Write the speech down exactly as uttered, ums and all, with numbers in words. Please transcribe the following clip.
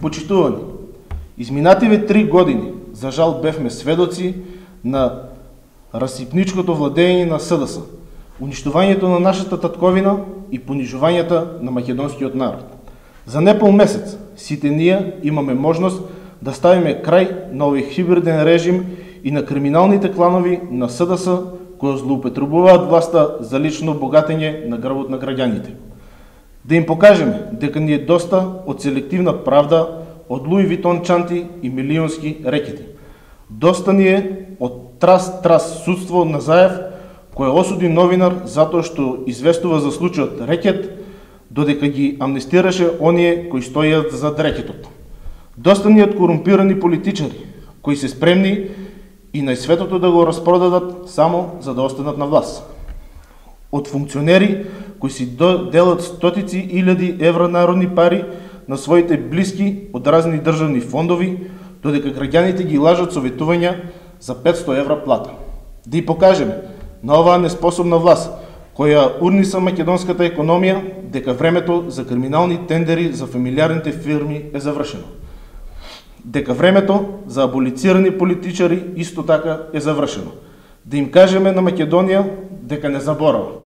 Почитувани, изминативе три години, за жал, бевме сведоци на расипничкото владење на СДС, уништувањето на нашата татковина и понижувањето на македонскиот народ. За непол месец сите ние имаме можност да ставиме крај на овој хибриден режим и на криминалните кланови на СДС кои злоупотребуваат власта за лично богатење на грбот на граѓаните. Да им покажеме дека ни е доста од селективна правда, од Луи Витон чанти и милионски рекети. Доста ни е од трас-трас судство на Заев, кој осуди новинар затоа што известува за случајот рекет, додека ги амнестираше оние кои стојат зад рекетот. Доста ни од корумпирани политичари, кои се спремни и најсветото да го распродадат само за да останат на власт. Од функционери кои си делат стотици илјади евра народни пари на своите блиски од разни државни фондови, додека граѓаните ги лажат советувања за петсто евра плата. Да и покажеме на оваа неспособна власт, која урниса македонската економија, дека времето за криминални тендери за фамилиарните фирми е завршено. Дека времето за аболицирани политичари исто така е завршено. Да им кажеме на Македонија дека не заборава.